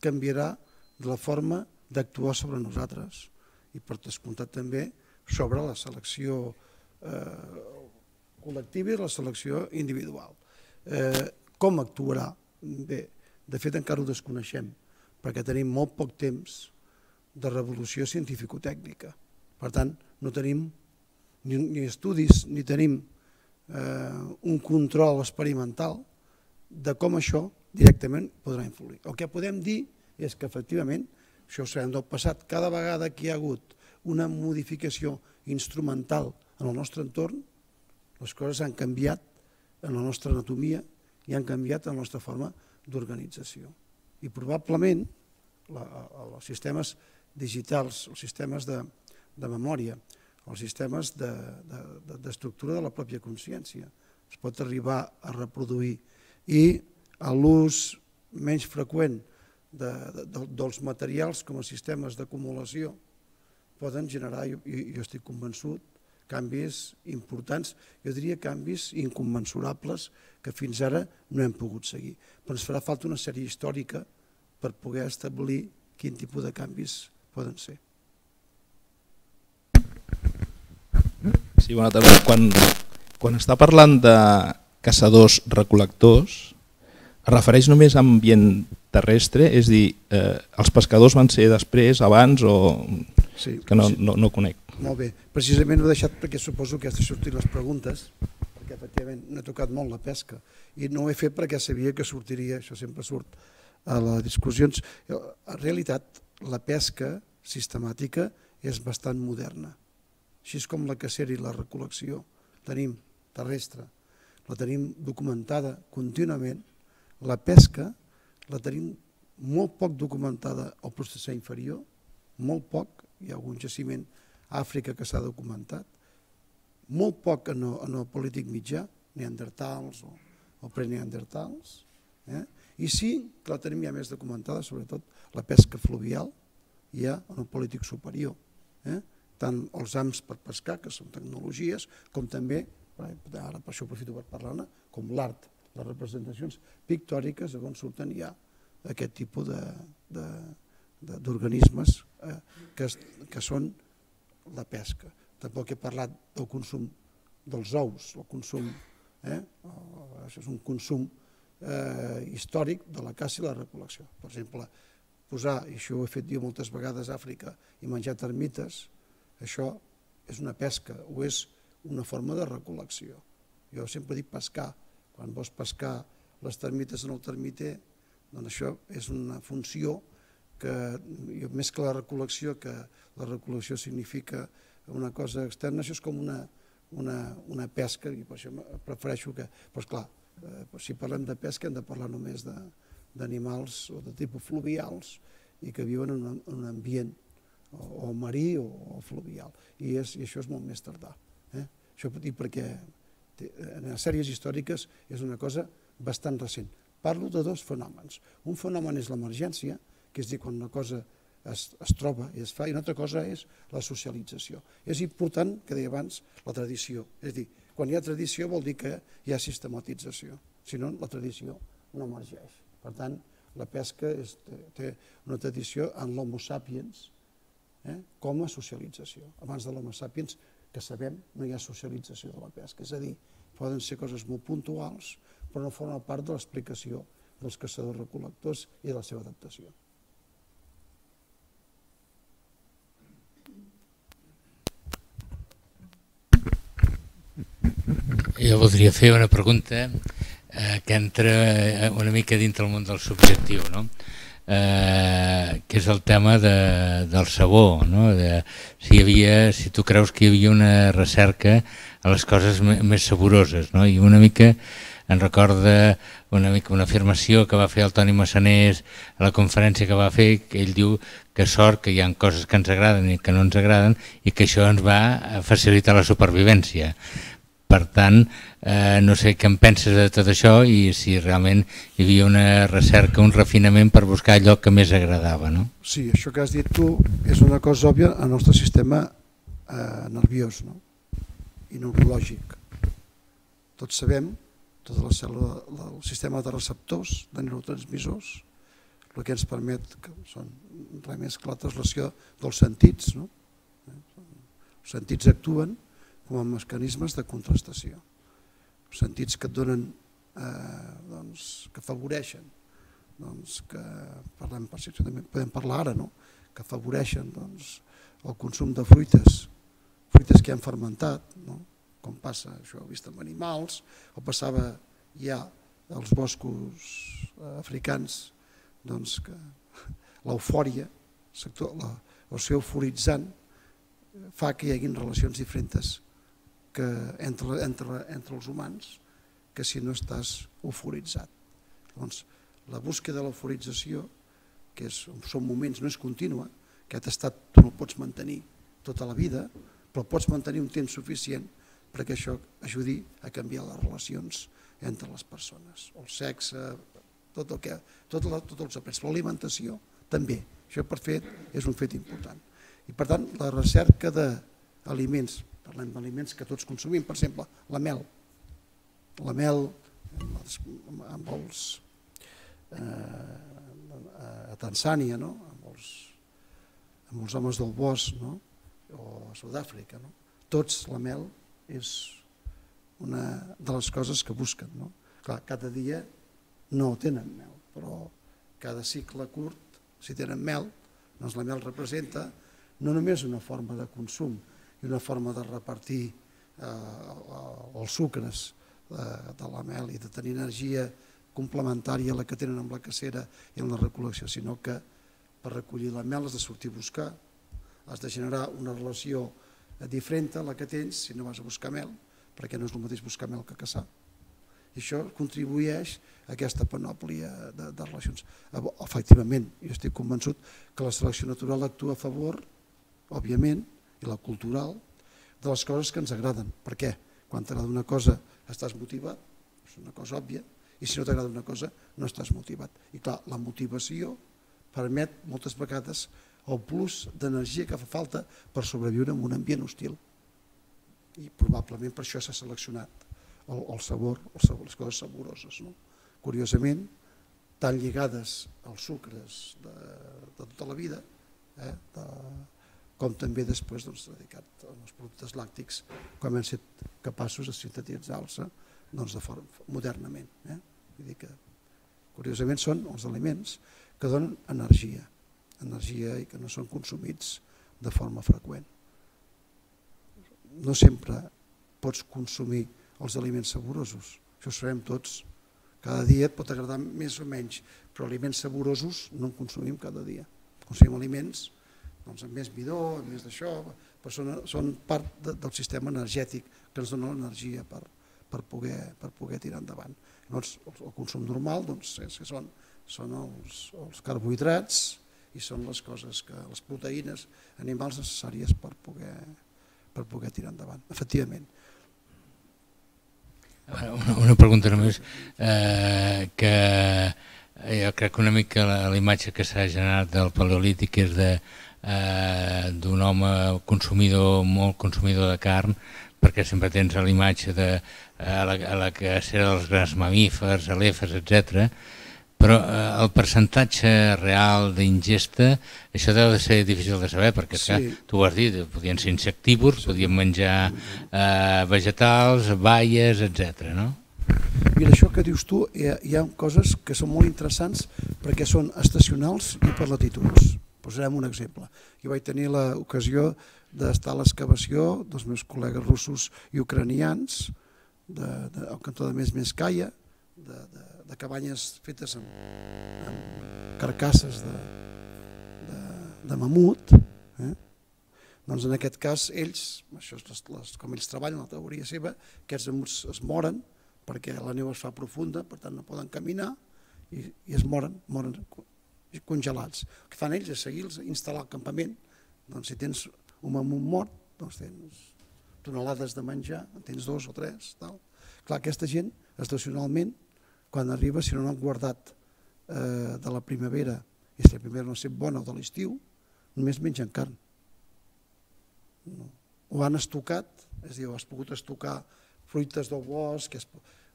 canviarà de la forma d'actuar sobre nosaltres i per descomptat també sobre la selecció col·lectiva i la selecció individual. Com actuarà? Bé, de fet encara ho desconeixem perquè tenim molt poc temps de revolució científico-tècnica. Per tant, no tenim ni estudis ni tenim un control experimental de com això directament podrà influir. El que podem dir és que efectivament, això ho sabem del passat, cada vegada que hi ha hagut una modificació instrumental en el nostre entorn, les coses han canviat en la nostra anatomia i han canviat en la nostra forma d'organització. I probablement els sistemes digitals, els sistemes de memòria, els sistemes d'estructura de la pròpia consciència es pot arribar a reproduir i l'ús menys freqüent dels materials com a sistemes d'acumulació poden generar, jo estic convençut, canvis importants, jo diria canvis incommensurables que fins ara no hem pogut seguir. Però ens farà falta una sèrie històrica per poder establir quin tipus de canvis poden ser. Sí, bona tarda. Quan està parlant de caçadors-recol·lectors, es refereix només a ambient terrestre? És a dir, els pescadors van ser després, abans o... Sí, que no conec. Molt bé. Precisament ho he deixat perquè suposo que has de sortir les preguntes, perquè que efectivament no he tocat molt la pesca i no ho he fet perquè sabia que sortiria, això sempre surt a les discussions. En realitat, la pesca sistemàtica és bastant moderna. Així com la cacera i la recol·lecció tenim terrestre, la tenim documentada contínuament, la pesca la tenim molt poc documentada al Plistocè inferior, molt poc, hi ha algun jaciment a Àfrica que s'ha documentat, molt poc en el polític mitjà, neandertals o preneandertals, i sí que la tenim ja més documentada, sobretot la pesca fluvial, ja en el polític superior, tant els hams per pescar, que són tecnologies, com també, ara per això aprofito per parlar-ne, com l'art, les representacions pictòriques on surten ja aquest tipus d'organismes que són la pesca. Tampoc he parlat del consum dels ous, el consum, això és un consum històric de la caça i la recol·lecció. Per exemple, posar, i això ho he fet jo moltes vegades a Àfrica, i menjar termites, això és una pesca o és una forma de recol·lecció. Jo sempre dic pescar. Quan vols pescar les termites en el termiter, doncs això és una funció que, més que la recol·lecció, que la recol·lecció significa una cosa externa, això és com una pesca, i per això prefereixo que... Però esclar, si parlem de pesca hem de parlar només d'animals o de tipus fluvials i que viuen en un ambient o marí o fluvial. I això és molt més tardà. Això perquè en les sèries històriques és una cosa bastant recent. Parlo de dos fenòmens. Un fenomen és l'emergència, que és dir, quan una cosa es troba i es fa, i una altra cosa és la socialització. És important, que deia abans, la tradició. És dir, quan hi ha tradició vol dir que hi ha sistematització, si no la tradició no emergeix. Per tant, la pesca té una tradició en l'homo sapiens com a socialització. Abans de l'homo sapiens, que sabem, no hi ha socialització de la pesca. És a dir, poden ser coses molt puntuals, però no formen part de l'explicació dels caçadors-recol·lectors i de la seva adaptació. Jo voldria fer una pregunta que entra una mica dintre el món del subjectiu, que és el tema del sabó, si tu creus que hi havia una recerca a les coses més saboroses, i una mica em recorda una afirmació que va fer el Toni Massanés a la conferència que va fer, que ell diu que sort que hi ha coses que ens agraden i que no ens agraden i que això ens va facilitar la supervivència. Per tant, no sé què en penses de tot això i si realment hi havia una recerca, un refinament per buscar allò que més agradava. Sí, això que has dit tu és una cosa òbvia al nostre sistema nerviós i neurològic. Tots sabem, tot el sistema de receptors, de neurotransmissors, el que ens permet, que són res més que la translació dels sentits. Els sentits actuen com a mecanismes de contrastació. Sentits que et donen, que afavoreixen, que podem parlar ara, que afavoreixen el consum de fruites que han fermentat, com passa, això ho he vist amb animals, o passava ja als boscos africans, que l'eufòria, el ser euforitzant, fa que hi hagi relacions diferents entre els humans que si no estàs euforitzat. Llavors, la búsqueda de l'euforització, que són moments, no és contínua, aquest estat tu no el pots mantenir tota la vida, però pots mantenir un temps suficient perquè això ajudi a canviar les relacions entre les persones, el sexe, tots els aspectes, l'alimentació també, això per fet és un fet important. I per tant, la recerca d'aliments, parlem d'aliments que tots consumim, per exemple, la mel a Tanzània, amb els homes del bosc, o a Sud-àfrica, tots la mel és una de les coses que busquen. Clar, cada dia no tenen mel, però cada cicle curt, si tenen mel, doncs la mel representa no només una forma de consum i una forma de repartir els sucres de la mel i de tenir energia complementària a la que tenen amb la cacera i amb la recol·lecció, sinó que per recollir la mel has de sortir a buscar, has de generar una relació diferent a la que tens si no vas a buscar mel, perquè no és el mateix buscar mel que caçar. I això contribueix a aquesta panòplia de relacions. Efectivament, jo estic convençut que la selecció natural actua a favor, òbviament, i la cultural, de les coses que ens agraden. Per què? Quan t'agrada una cosa estàs motivat, és una cosa òbvia, i si no t'agrada una cosa no estàs motivat. I clar, la motivació permet moltes vegades el plus d'energia que fa falta per sobreviure en un ambient hostil. I probablement per això s'ha seleccionat el sabor, les coses saboroses. Curiosament, tan lligades als sucres de tota la vida, com també després dedicat als productes làctics, quan hem estat capaços de sintetitzar-se modernament. Vull dir que, curiosament, són els aliments que donen energia i que no són consumits de forma freqüent. No sempre pots consumir els aliments saborosos, això ho sabem tots. Cada dia et pot agradar més o menys, però aliments saborosos no en consumim cada dia. Consumim aliments amb més midó, amb més d'això, però són part del sistema energètic que ens dona l'energia per poder tirar endavant. Llavors, el consum normal són els carbohidrats i són les coses, les proteïnes animals necessàries per poder tirar endavant, efectivament. Una pregunta només, que jo crec que una mica la imatge que s'ha generat del paleolític és d'un home consumidor, molt consumidor de carn, perquè sempre tens la imatge de la cacera dels grans mamífers, elefants, etc. Però el percentatge real d'ingesta, això deu de ser difícil de saber, perquè tu ho has dit, podien ser insectívors, podien menjar vegetals, baies, etc. Mira, això que dius tu, hi ha coses que són molt interessants perquè són estacionals i per latituds. Posarem un exemple. Jo vaig tenir l'ocasió d'estar a l'excavació dels meus col·legues russos i ucranians al cantó de Mesmeskaya, de cabanyes fetes amb carcasses de mamut. Doncs en aquest cas ells, com ells treballen, la teoria seva, aquests mamuts es moren perquè la neu es fa profunda, per tant no poden caminar i es moren congelats. El que fan ells és seguir-los, instal·lar al campament. Doncs si tens un mamut mort, doncs tens tonelades de menjar, en tens 2 o 3. Clar, aquesta gent, estacionalment, quan arriba, si no han guardat de la primavera, i si la primavera no és bona o de l'estiu, només mengen carn. Ho han estocat, és a dir, has pogut estocar fruites del bosc,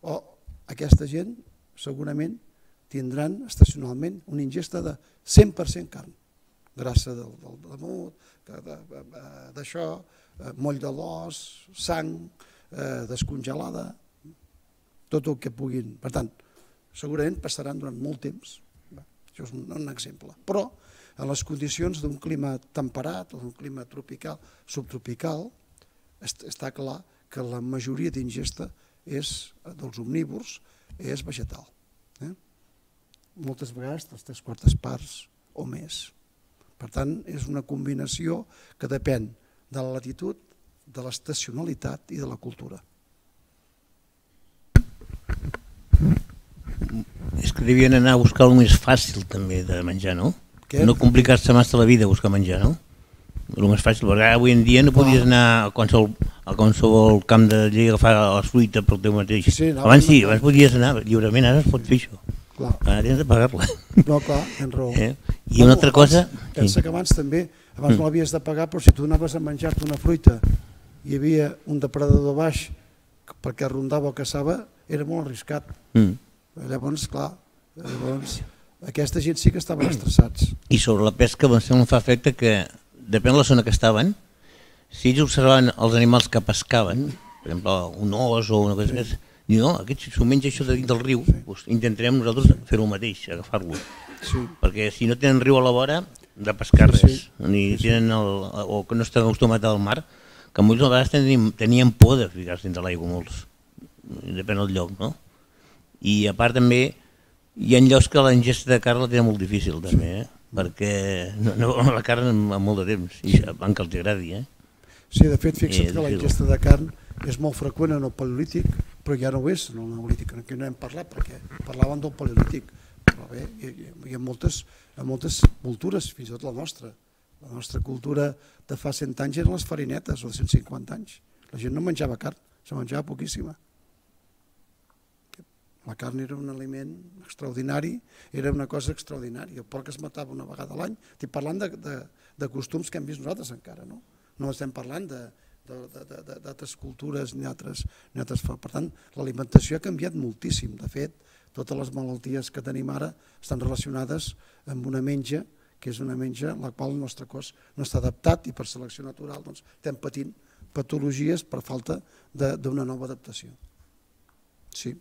o aquesta gent segurament tindran estacionalment una ingesta de 100% carn, grassa del mamut, d'això, moll de l'os, sang descongelada, tot el que puguin. Per tant, segurament passaran durant molt temps, això és un exemple, però en les condicions d'un clima temperat o d'un clima tropical, subtropical, està clar que la majoria d'ingesta dels omnívors és vegetal. Moltes vegades les 3/4 parts o més. Per tant, és una combinació que depèn de la latitud, de l'estacionalitat i de la cultura. És que devien anar a buscar el més fàcil també de menjar, no? No complicar-se massa la vida a buscar menjar, no? El més fàcil, perquè avui en dia no podies anar a qualsevol camp de llei a agafar la fruita pel teu mateix. Abans sí, abans podies anar lliurement, ara es pot fer això. Ara tens de pagar-la. No, clar, tens raó. I una altra cosa... Pensa que abans també, abans no l'havies de pagar, però si tu anaves a menjar-te una fruita i hi havia un depredador baix perquè rondava o caçava, era molt arriscat. Llavors, clar, aquesta gent sí que estaven estressats. I sobre la pesca em fa efecte que, depèn de la zona que estaven, si ells observaven els animals que pescaven, per exemple, un os o una cosa més, diuen, no, aquest s'ho menja això de dins del riu, intentarem nosaltres fer el mateix, agafar-lo. Perquè si no tenen riu a la vora, de pescar res, o que no estan acostumats al mar, que molts a vegades tenien por de ficar-se dins de l'aigua molts. depèn del lloc, no? I a part també hi ha llocs que la ingesta de carn la tenen molt difícil també, perquè no veuen la carn en molt de temps, i van que els agradi, Sí, de fet, fixa't que la ingesta de carn és molt freqüent en el paleolític, però ja no ho és en el neolític, en què no hem parlat, perquè parlaven del paleolític, però bé, hi ha moltes cultures, fins i tot la nostra. La nostra cultura de fa 100 anys eren les farinetes, o de 150 anys. La gent no menjava carn, se menjava poquíssima. La carn era un aliment extraordinari, era una cosa extraordinària. El porc es matava una vegada a l'any. Estic parlant de costums que hem vist nosaltres encara, no? No estem parlant d'altres cultures ni altres. Per tant, l'alimentació ha canviat moltíssim. De fet, totes les malalties que tenim ara estan relacionades amb una menja, que és una menja en la qual el nostre cos no està adaptat i per selecció natural estem patint patologies per falta d'una nova adaptació. Sí.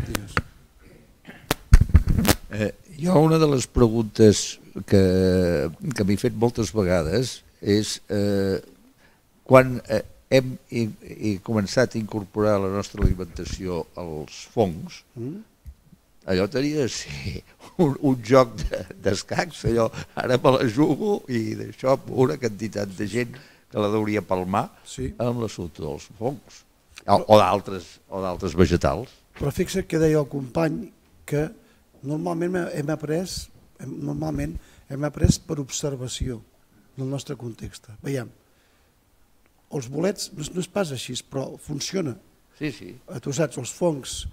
Digues. Jo una de les preguntes que m'he fet moltes vegades és quan hem començat a incorporar a la nostra alimentació els fongs, allò tenia de ser un joc d'escacs, allò ara me la jugo i d'això una quantitat de gent que la deuria palmar amb l'assumpte dels fongs o d'altres vegetals. Però fixa't que deia el company que normalment hem après per observació del nostre context. Veiem, els bolets no és pas així, però funciona. Sí. Tu saps, els fongs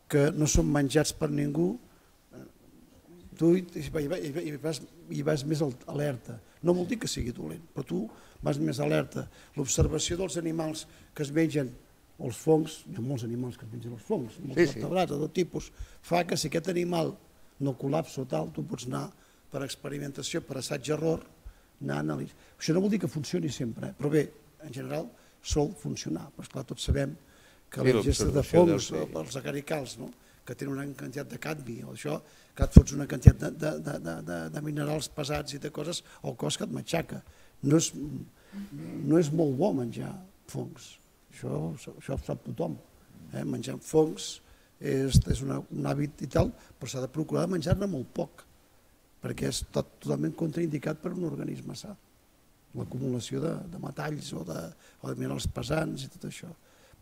que no són menjats per ningú, tu hi vas més alerta. No vol dir que sigui dolent, però tu vas més alerta. L'observació dels animals que es mengen els fongs, hi ha molts animals que es mengen els fongs, molts vertebrats de tot tipus, fa que si aquest animal no col·lapsa o tal, tu pots anar per experimentació, per assaig-error, anar a analitzar. Això no vol dir que funcioni sempre, però bé, en general sol funcionar. Però esclar, tots sabem que la ingesta de fongs, els agaricals, que tenen una quantitat de cadmi, o això, que et fots una quantitat de minerals pesats i de coses, el cos que et matxaca. No és molt bo menjar fongs. Això ho sap tothom. Menjar fongs és un hàbit i tal, però s'ha de procurar menjar-ne molt poc, perquè és totalment contraindicat per un organisme sa. L'acumulació de metalls o de minerals pesants i tot això.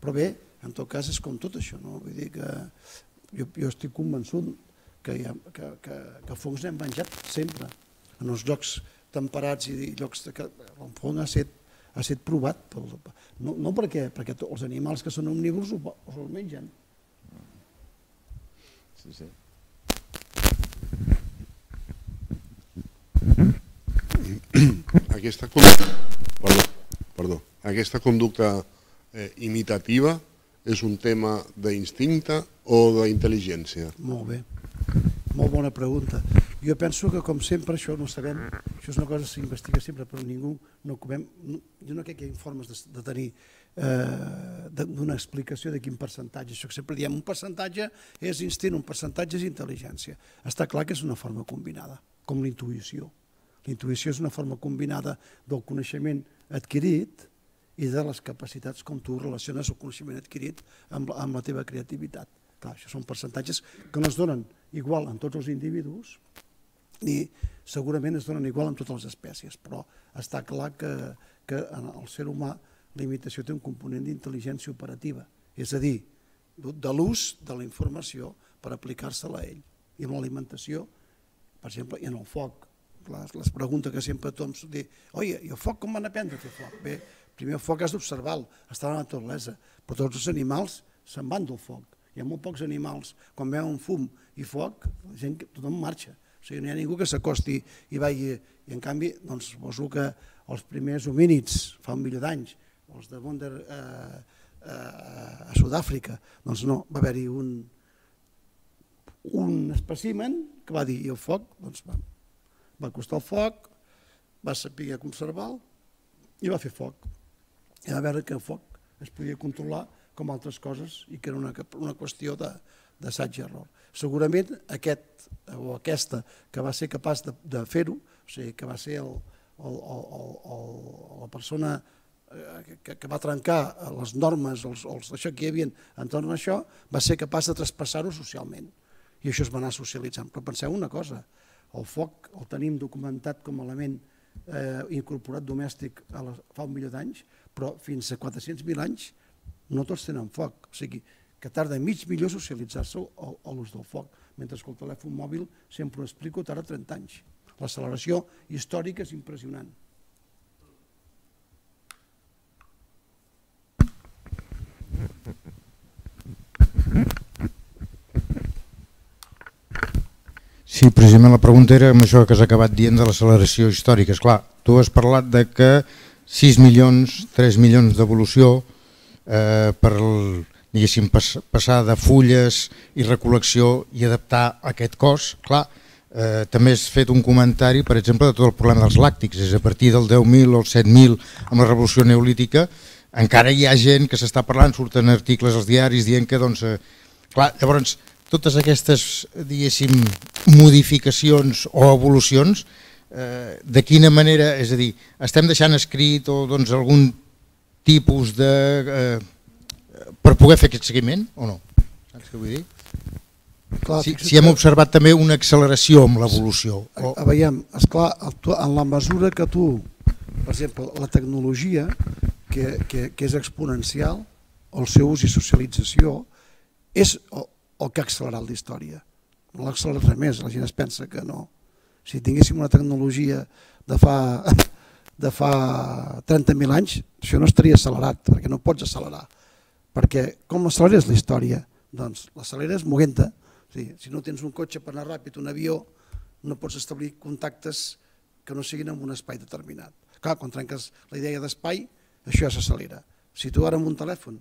Però bé, en tot cas és com tot això, no? Vull dir que jo estic convençut que fongs n'hem menjat sempre. En els llocs temperats i llocs que el fong ha estat provat, no perquè els animals que són omnívors els mengen. Sí. Aquesta conducta imitativa és un tema d'instinte o d'intel·ligència? Molt bé, molt bona pregunta. Jo penso que, com sempre, això no sabem, això és una cosa que s'investiga sempre, però ningú no comem. Jo no crec que hi ha formes de tenir d'una explicació de quin percentatge. Això que sempre diem, un percentatge és instint, un percentatge és intel·ligència. Està clar que és una forma combinada, com la intuïció. La intuïció és una forma combinada del coneixement adquirit i de les capacitats com tu relaciones el coneixement adquirit amb la teva creativitat. Clar, això són percentatges que no es donen igual en tots els individus ni segurament es donen igual en totes les espècies, però està clar que en el ser humà la imitació té un component d'intel·ligència operativa, és a dir, de l'ús de la informació per aplicar-se-la a ell. I amb l'alimentació, per exemple, i en el foc, les preguntes que sempre tothom diu, oi, i el foc com van aprendre a fer foc? Bé, primer el foc has d'observar-lo, està a la naturalesa, però tots els animals se'n van del foc. Hi ha molt pocs animals, quan veuen fum i foc, la gent, tothom marxa. O sigui, no hi ha ningú que s'acosti i vagi... I en canvi, doncs, suposo que els primers homínids, fa 1 milió d'anys, els de Wonder a Sud-àfrica, doncs no, va haver-hi un espècimen que va dir, i el foc, doncs va acostar el foc, va saber conservar-lo i va fer foc. I va veure que el foc es podia controlar com altres coses i que era una qüestió d'assaig i error. Segurament aquest o aquesta que va ser capaç de fer-ho, o sigui, que va ser la persona que va trencar les normes, això que hi havia entorn a això, va ser capaç de traspassar-ho socialment. I això es va anar socialitzant. Però penseu una cosa, el foc el tenim documentat com a element incorporat domèstic fa 1 milió d'anys, però fins a 400.000 anys no tots tenen foc. O sigui, que tarda mig milió socialitzar-se a l'ús del foc, mentre que el telèfon mòbil, sempre ho explico, tarda 30 anys. L'acceleració històrica és impressionant. Sí, precisament la pregunta era amb això que has acabat dient de l'acceleració històrica. Esclar, tu has parlat de que 6 milions, 3 milions d'evolució per diguéssim, passar de fulles i recol·lecció i adaptar aquest cos. Clar, també has fet un comentari, per exemple, de tot el problema dels làctics. És a partir del 10.000 o el 7.000 amb la revolució neolítica, encara hi ha gent que s'està parlant, surten articles als diaris dient que, doncs, clar, llavors, totes aquestes, diguéssim, modificacions o evolucions, de quina manera, és a dir, estem deixant escrit o doncs algun tipus de... per poder fer aquest seguiment o no? Saps què vull dir? Si hem observat també una acceleració amb l'evolució. Veiem, esclar, en la mesura que tu, per exemple, la tecnologia, que és exponencial, el seu ús i socialització, és el que ha accelerat la història. No l'ha accelerat res més, la gent es pensa que no. Si tinguéssim una tecnologia de fa 30.000 anys, això no estaria accelerat, perquè no pots accelerar. Perquè com l'acceleres la història? Doncs l'acceleres movent-te. Si no tens un cotxe per anar ràpid, un avió, no pots establir contactes que no siguin en un espai determinat. Clar, quan trenques la idea d'espai, això ja s'accelera. Si tu ara amb un telèfon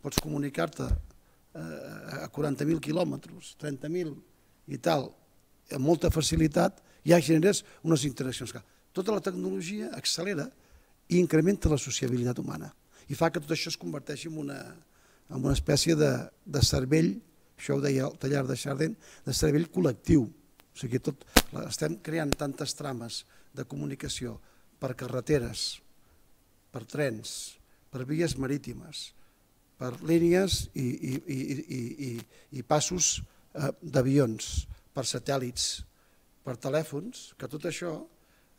pots comunicar-te a 40.000 quilòmetres, 30.000 i tal, amb molta facilitat, ja generes unes interaccions. Tota la tecnologia accelera i incrementa la sociabilitat humana i fa que tot això es converteixi en una espècie de cervell, això ho deia el Tallar de Chardin, de cervell col·lectiu. O sigui, estem creant tantes trames de comunicació per carreteres, per trens, per vies marítimes, per línies i passos d'avions, per satèl·lits, per telèfons, que tot això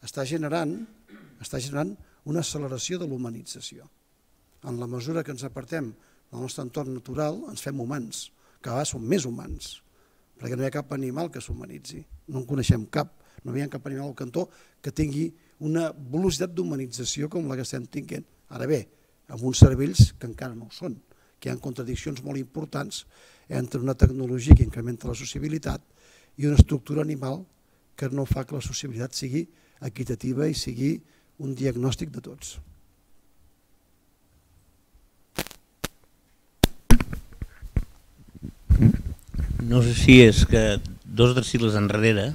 està generant una acceleració de l'humanització. En la mesura que ens apartem del nostre entorn natural, ens fem humans, que a vegades som més humans, perquè no hi ha cap animal que s'humanitzi, no en coneixem cap, no hi ha cap animal al cantó que tingui una velocitat d'humanització com la que estem tinguent. Ara bé, amb uns cervells que encara no ho són, que hi ha contradiccions molt importants entre una tecnologia que incrementa la sociabilitat i una estructura animal que no fa que la sociabilitat sigui equitativa i sigui un diagnòstic de tots. No sé si és que 2 o 3 segles enrere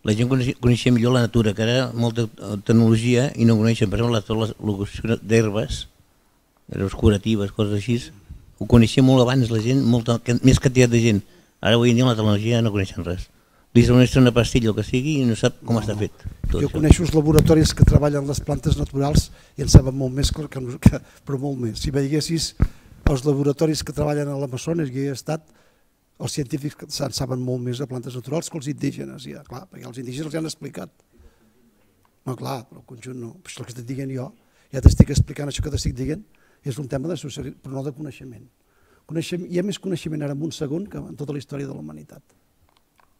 la gent coneixia millor la natura, que era molta tecnologia i no coneixen, per exemple, la locució d'herbes, herbes curatives, coses així, ho coneixia molt abans la gent, més quantitat de gent. Ara avui en dia la tecnologia no coneixen res. Li doneixen una pastilla o que sigui i no sap com està fet. Jo coneixo els laboratoris que treballen les plantes naturals i en saben molt més, però molt més. Si veiessis els laboratoris que treballen a l'Amazones, que hi he estat, els científics en saben molt més de plantes naturals que els indígenes, ja, clar, perquè els indígenes els han explicat. No, clar, però el conjunt no. Això que estic dient jo, ja t'estic explicant això que t'estic dient, és un tema de socialitat, però no de coneixement. Hi ha més coneixement ara en un segon que en tota la història de la humanitat.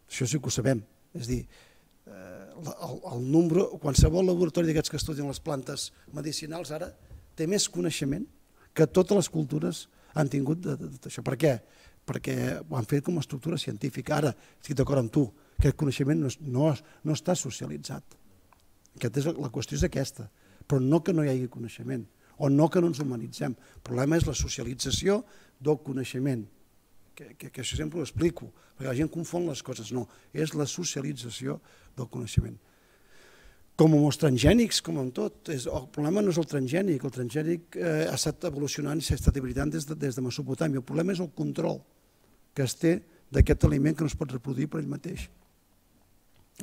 Això sí que ho sabem. És a dir, qualsevol laboratori d'aquests que estudien les plantes medicinals ara té més coneixement que totes les cultures han tingut d'això. Per què? Perquè ho han fet com a estructura científica. Ara, estic d'acord amb tu, aquest coneixement no està socialitzat. La qüestió és aquesta, però no que no hi hagi coneixement, o no que no ens humanitzem. El problema és la socialització del coneixement, que això sempre ho explico, perquè la gent confon les coses. No, és la socialització del coneixement. Com amb els transgènics, com amb tot. El problema no és el transgènic ha estat evolucionant i s'ha estat hibridant des de Mesopotàmia. El problema és el control que es té d'aquest aliment que no es pot reproduir per ell mateix.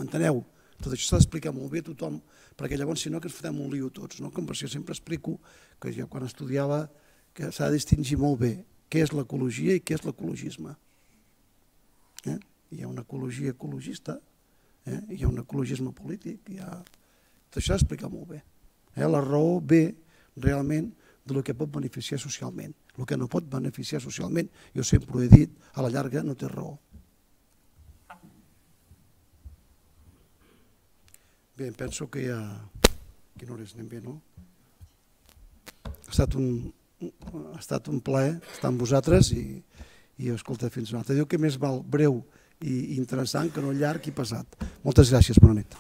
Enteneu? Tot això s'ha d'explicar molt bé a tothom, perquè llavors si no que ens fotem un lío tots, no? Com jo sempre explico que jo quan estudiava que s'ha de distingir molt bé què és l'ecologia i què és l'ecologisme. Hi ha una ecologia ecologista, hi ha un ecologisme polític, tot això s'ha d'explicar molt bé. La raó ve realment del que pot beneficiar socialment. El que no pot beneficiar socialment, jo sempre ho he dit, a la llarga no té raó. Bé, penso que ja... Quina hora és? Anem bé, no? Ha estat un plaer estar amb vosaltres i escolta, fins una altra. Diu que més val breu i interessant que no llarg i pesat. Moltes gràcies, bona nit.